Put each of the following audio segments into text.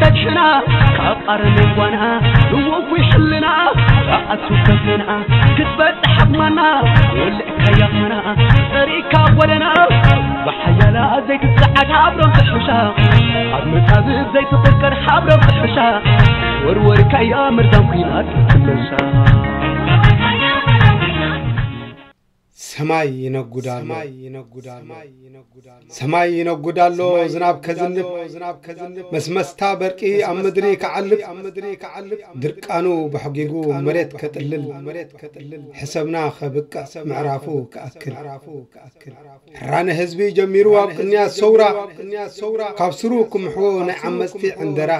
ተድሕና ካብ ኣረሜን ጓና፣ ንወጉ ሕልና ኣቱ ከፍና ክትበጽሕ ዓቕማና፣ ወልዕካያ ኾና ጸሪካ ጎለና። ብሓያላ ዘይትጸዓድ ሓብሮም ትሕሻ፣ ኣብ መጻብብ ዘይትቕርቀር ሓብሮም ትሕሻ፣ ወርወርካያ መርዛም ኲናት ትነሳ። ሰማይ ይነጉድ ኣሎ። ሰማይ ይነጉድ ኣሎ። ዝናብ ከዝንብ፣ መስመስታ በርቂ ኣብ ምድሪ ክዓልብ፣ ድርቃኑ በሕጊጉ መሬት ከጥልል፣ ሕሰብና ከብቅዕ ምዕራፉ ክኣክል። ሕራነ ህዝቢ ጀሚሩ ኣብ ቅንያት ሰውራ፣ ካብ ስሩ ክምሕዎ ናይ ዓመጽቲ ዕንደራ፣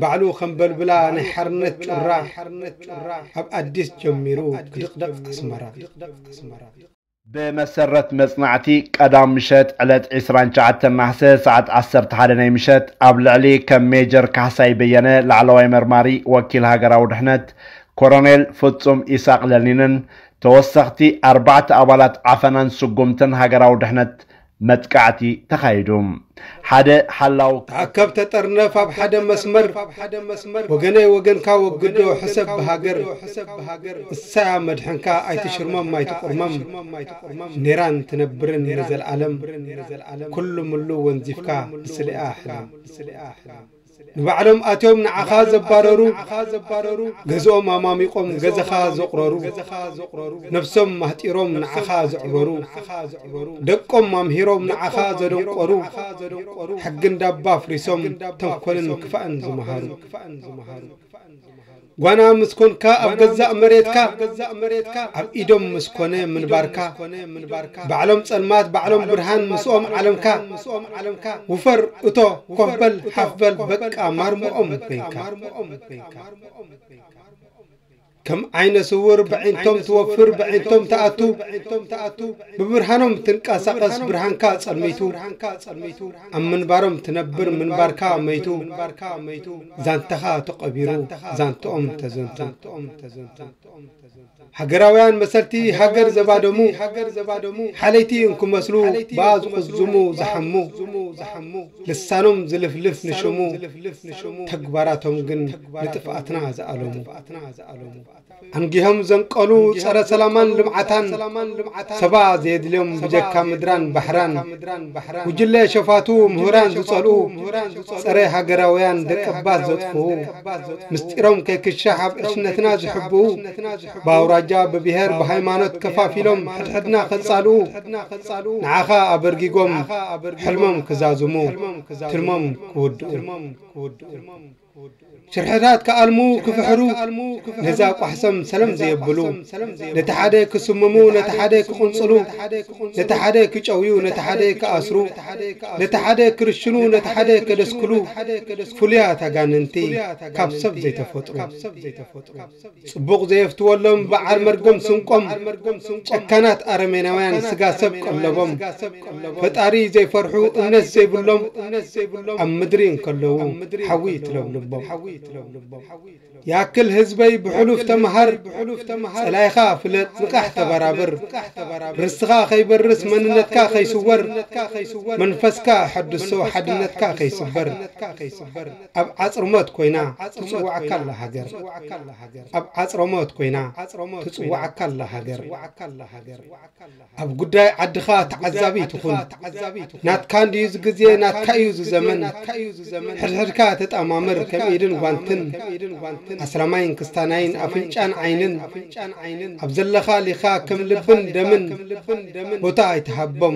ባዕሉ ከም በልብላ ናይ ሓርነት ጩራ፣ ኣብ ኣዲስ ጀሚሩ ክድቕደቕ ኣስመራ። ብመሰረት መጽናዕቲ፣ ቀዳም ምሸት ዕለት ዕስራን ትሽዓተን ነሓሰ ሰዓት ዓሰርተ ሓደ ናይ ምሸት ኣብ ልዕሊ ከም ሜጀር ካሕሳይ በየነ ላዕለዋይ መርማሪ ወኪል ሃገራዊ ድሕነት፣ ኮሎኔል ፍጹም ኢሳቕ ለኒንን ተወሰኽቲ ኣርባዕተ ኣባላት ዓፈናን ስጉምትን ሃገራዊ ድሕነት መጥቃዕቲ ተኻይዱ። ሓደ ሓላው ተኣከብ ተጠርነፍ ኣብ ሓደ መስመር፣ ወገነይ ወገንካ ወግዶ ሕሰብ ብሃገር፣ እሳያ መድሕንካ ኣይትሽርመም ኣይትቁርመም፣ ኔራን ትነብርን ንዘልኣለም፣ ኩሉ ምሉ ወንዚፍካ ብስሊኣ ሕለም። ንባዕሎም ኣትዮም ንዓኻ ዘባረሩ፣ ገዝኦም ኣማሚቖም ገዛኻ ዘቑረሩ፣ ነብሶም ማህጢሮም ንዓኻ ዘዕበሩ፣ ደቆም ኣምሂሮም ንዓኻ ዘደንቆሩ፣ ሕጊ እንዳባ ኣፍሪሶም ተንኮልን ክፋእን ዝመሃሩ። ጓና ምስ ኮንካ ኣብ ገዛእ መሬትካ፣ ኣብ ኢዶም ምስ ኮነ ምንባርካ፣ ባዕሎም ጸልማት ባዕሎም ብርሃን ምስኦም ዓለምካ፣ ውፈር እቶ ኮፍ በል ሓፍ በል በቃ ማርምኦም ኮይንካ። ከም ዓይነ ስውር ብዒንቶም ትወፍር ብዒንቶም ትኣቱ፣ ብብርሃኖም ትንቀሳቐስ ብርሃንካ ጸልሚቱ፣ ኣብ ምንባሮም ትነብር ምንባርካ መይቱ፣ ዛንታኻ ተቐቢሩ ዛንትኦም ተዘንቱ። ሃገራውያን መሰልቲ ሃገር ዘባደሙ፣ ሓለይቲ እንክመስሉ ብኣ ዝቑዝሙ ዝሓሙ፣ ልሳኖም ዝልፍልፍ ንሽሙ፣ ተግባራቶም ግን ንጥፍኣትና ዝኣለሙ። ኣንጊሆም ዘንቀሉ ጸረ ሰላማን ልምዓታን፣ ሰባ ዘየድልዮም ብጀካ ምድራን ባሕራን፣ ጉጅለ ሸፋቱ ምሁራን ዝጸልኡ፣ ጸረ ሃገራውያን ደቀባት ዘጥፍኡ፣ ምስጢሮም ከይክሻሕ ኣብ ዕሽነትና ዝሕብኡ፣ ብኣውራጃ ብብሄር ብሃይማኖት ከፋፊሎም ሕድሕድና ከጻልኡ፣ ንዓኻ ኣበርጊጎም ሕልሞም ክዛዝሙ፣ ትልሞም ክውድኡ። ሽርሕታት ክኣልሙ ክፍሕሩ፣ ነዛ ቋሕሰም ሰለም ዘየብሉ፣ ነቲ ሓደ ክስምሙ ነቲ ሓደ ክቕንጽሉ፣ ነቲ ሓደ ክጨውዩ ነቲ ሓደ ክኣስሩ፣ ነቲ ሓደ ክርሽኑ ነቲ ሓደ ከደስክሉ፣ ፍሉያት ኣጋንንቲ ካብ ሰብ ዘይተፈጥሩ። ጽቡቕ ዘየፍትወሎም በዓል መርገም ስንቆም፣ ጨካናት ኣረሜናውያን ስጋ ሰብ ቀለቦም፣ ፈጣሪ ዘይፈርሑ እምነት ዘይብሎም፣ ኣብ ምድሪ እንከለዉ ሓዊ ትለብልቦም። ይኣክል ህዝበይ ብሕሉፍ ተምሃር፣ ጸላኢኻ ፍለጥ ንቓሕ ተበራብር፣ ርስኻ ከይበርስ መንነትካ ከይስወር፣ መንፈስካ ሕድሶ ሓድነትካ ከይስበር፣ ኣብ ዓጽርሞት ኮይና ትጽውዓካ ኣላ ሃገር። ኣብ ዓጽርሞት ኮይና ትጽውዓካ ኣላ ሃገር። ኣብ ጉዳይ ዓድኻ ተዓዛቢ ትኹን። ናትካ እንድዩ ዝግዜ ናትካ እዩ ዝዘመን። ሕድሕድካ ተጣማምር ከም ኢድን ጓንትን፣ ኣስላማይን ክስታናይን ኣፍንጫን ዓይንን፣ ኣብ ዘለኻ ሊኻ ከም ልብን ደምን፣ ቦታ ኣይትሃቦም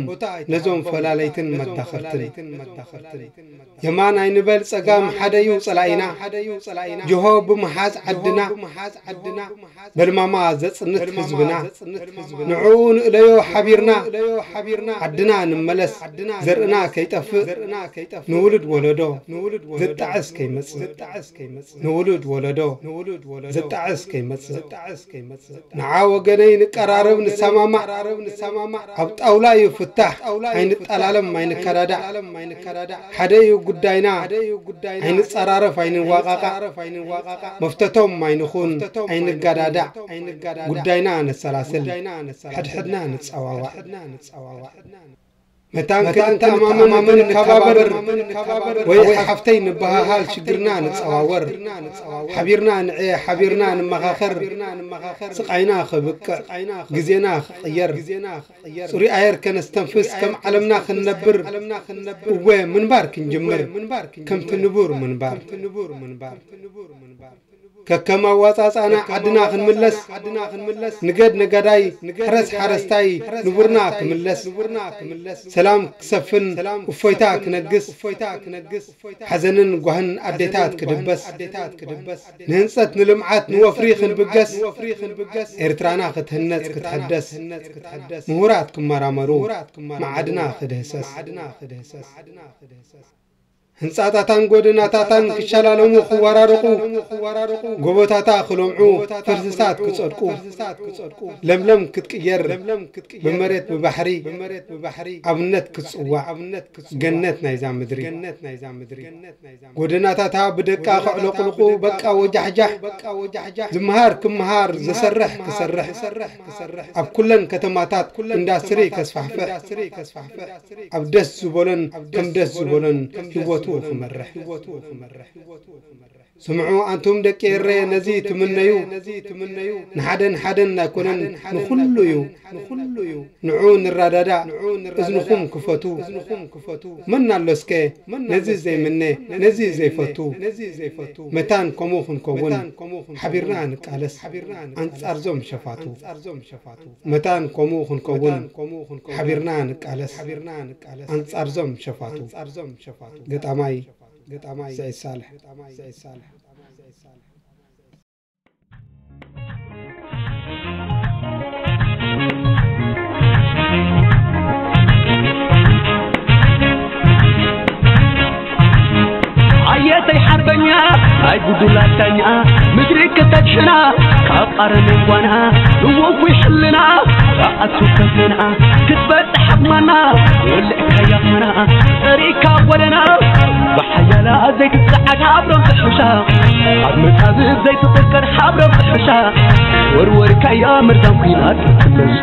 ነዞም ፈላለይትን መዳኸርትን። የማን ኣይንበል ጸጋም ሓደዩ ጸላኢና፣ ጅሆ ብምሓዝ ዓድና፣ በልማማ ዘጽንት ህዝብና፣ ንዕኡ ንእለዮ ሓቢርና፣ ዓድና ንመለስ ዘርእና ከይጠፍእ፣ ንውሉድ ወለዶ ዘጣዕስ ከይመጽእ፣ ንውሉድ ወለዶ ዘጣዕስ ከይመጽእ። ንዓ ወገነይ ንቀራረብ ንሰማማዕ፣ ኣብ ጣውላ እዩ ፍታሕ፣ ኣይንጠላለም ኣይንከዳዳዕ። ሓደ እዩ ጉዳይና፣ ኣይንጸራረፍ ኣይንዋቓቓዕ፣ መፍተቶም ኣይንኹን ኣይንጋዳዳዕ። ጉዳይና ነሰላስል፣ ሕድሕድና ንጸዋዋዕ። መታን ክልተ ኣማመን ንከባበር፣ ወይ ሓፍተይ ንበሃሃል ሽግርና ንጸዋወር። ሓቢርና ንዕየ፣ ሓቢርና ንመኻኸር፣ ስቓይና ክብቅዕ፣ ግዜና ክቕየር፣ ጽሩይ ኣየር ከነስተንፍስ፣ ከም ዓለምና ክንነብር፣ እወ ምንባር ክንጅምር፣ ከምቲ ንቡር ምንባር። ከከም ኣዋጻጻና ዓድና ክንምለስ፣ ንገድ ነጋዳይ፣ ሕረስ ሓረስታይ፣ ንቡርና ክምለስ፣ ሰላም ክሰፍን፣ እፎይታ ክነግስ፣ ሓዘንን ጓህን ኣዴታት ክድበስ፣ ንህንጸት ንልምዓት ንወፍሪ ክንብገስ፣ ኤርትራና ክትህነጽ ክትሕደስ፣ ምሁራት ክመራመሩ፣ መዓድና ክድህሰስ። ህንጻታታን ጎደናታታን ክሸላለሙ ክወራረቑ፣ ጎቦታታ ክለምዑ፣ ፈርስሳት ክጸድቁ፣ ለምለም ክትቅየር፣ ብመሬት ብባሕሪ ኣብነት ክትጽዋዕ፣ ገነት ናይዛ ምድሪ። ጎደናታታ ብደቃ ክዕለቕልቑ፣ በቃ ወጃሕጃሕ፣ ዝመሃር ክመሃር፣ ዝሰርሕ ክሰርሕ፣ ኣብ ኩለን ከተማታት ኢንዳስትሪ ከስፋሕፍሕ፣ ኣብ ደስ ዝበሎን ከም ደስ ዝበሎን ህይወቱ ክመርሕ። ስምዑ ኣንቱም ደቂ ኤረ፣ ነዚ ትምነዩ፣ ንሓደን ሓደን ኣይኮነን፣ ንኹሉ እዩ። ንዑ ንረዳዳእ፣ እዝንኹም ክፈቱ። መን ኣሎ እስከ ነዚ ዘይምነ፣ ነዚ ዘይፈቱ? መታን ከምኡ ክንከውን ሓቢርና ንቃለስ፣ ኣንጻርዞም ሸፋቱ። መታን ከምኡ ክንከውን ሓቢርና ንቃለስ፣ ኣንጻርዞም ሸፋቱ። ገጣማይ፣ ገጣማይ ስዒድ ሳልሕ። ኣየተይ ሓርበኛ ናይ ጉዱላት ዳኛ፣ ምድሪ ክተድሕና ካብ ኣረሜን ጓና፣ ንወፉይ ሕልና ኣቱ ከፊና ክትበጽሕ ኣቕማና፣ ወልዕካያ ኾና ጸሪካ ጎደና፣ ብሓያላ ዘይትጸዓድ ሃብሮም ትሕሻ፣ ኣብ መቃብር ዘይትቕቀር ሃብሮም ትሕሻ፣ ወርወርካያ መርዛም ኲናት ክትመሻ።